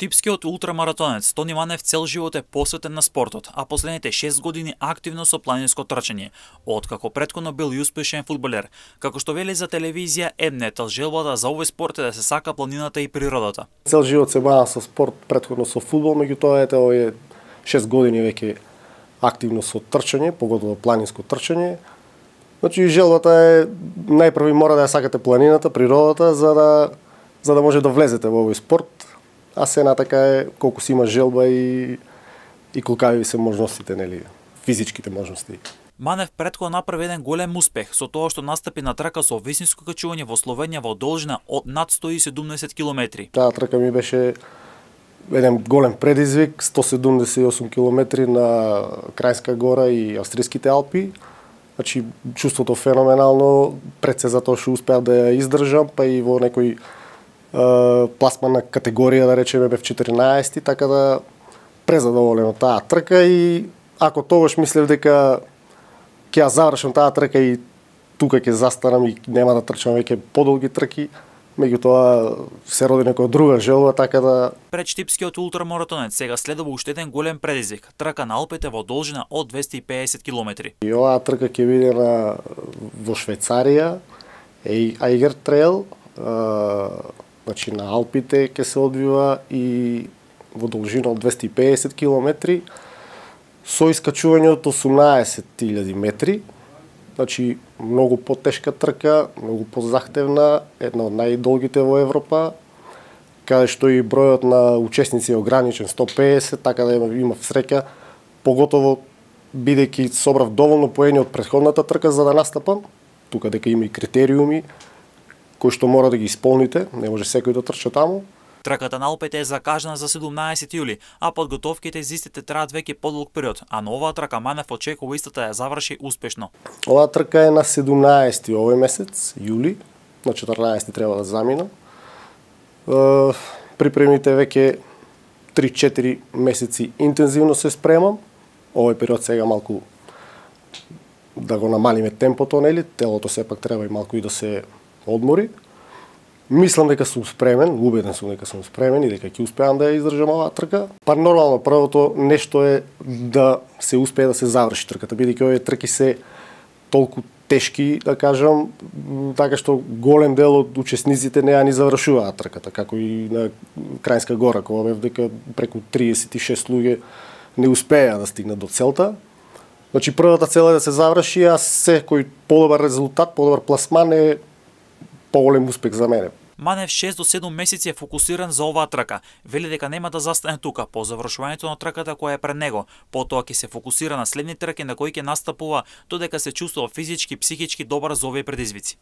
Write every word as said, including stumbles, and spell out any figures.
Штипскиот ултрамаратонец Тони Манев цел живот е посветен на спортот, а последните шест години активно со планинско трчање, откако претходно бил и успешен фудбалер. Како што вели за телевизија М-нет, желбата за овој спорт е да се сака планината и природата. Цел живот се бавам со спорт, претходно со фудбал, меѓутоа ете овие шест години веќе активно со трчање, поготово планинско трчање. Значи желбата е најпрви мора да ја сакате планината, природата, за да за да може да влезете во овој спорт. А се натака е колку си има желба и и колкави се можностите, нели, физичките можности. Манев претходно направи еден голем успех со тоа што настапи на трака со висинско качување во Словенија во должина од над сто и седумдесет километри. Таа трака ми беше еден голем предизвик, сто седумдесет и осум километри на Крајнска гора и Австриските Алпи. Значи чувството феноменално, пред се затоа што успеав да ја издржам, па и во некој пласмана категорија, да речеме, бев четиринаесети, така да презадоволен од таа трка и ако тогаш мислев дека ќе ја завршам таа трка и тука ќе застанам и нема да трчам веќе подолги трки, меѓутоа се роди некоја друга желба, така да... Пред штипскиот ултрамаратонец сега следува уште еден голем предизвик, трка на Алпите во должина од двесте и педесет километри. И оваа трка ќе биде на во Швајцарија, Eiger Trail, значи на Алпите ќе се одвива и во должина од двесте и педесет километри со искачување од осумнаесет илјади метри. Значи многу потешка трка, многу позахтевна, една од најдолгите во Европа, каде што и бројот на учесници е ограничен сто и педесет, така да имав среќа, поготово бидејќи собрав доволно поени од претходната трка за да настапам, тука дека има и критериуми кои што мора да ги исполните, не може секој да трча таму. Трката на Алпите е закажана за седумнаесети јули, а подготовките за истите траат веќе подолг период, а на оваа трка Манев очекува истата ја заврши успешно. Оваа трка е на седумнаесети овој месец, јули, на четрнаесети треба да заминам. Припремите веќе три-четири месеци интензивно се спремам. Овој период сега малку да го намалиме темпото, нели? Телото сепак треба и малку и да се одмори. Мислам дека сум спремен, убеден сум дека сум спремен и дека ќе успеам да ја издржам оваа трка. Па нормално првото нешто е да се успее да се заврши трката, бидејќи овие трки се толку тешки, да кажам, така што голем дел од учесниците не ја ни завршуваат трката, како и на Крајнска гора, кога бев дека преку триесет и шест луѓе не успеа да стигнат до целта. Значи првата цел е да се заврши, а секој подобар резултат, подобар пласман е поголем успех за мене. Манев шест до седум месеци е фокусиран за оваа трка. Вели дека нема да застане тука по завршувањето на трката која е пред него. Потоа ќе се фокусира на следни трки на кои ќе настапува, додека се чувствува физички, психички добар за овие предизвици.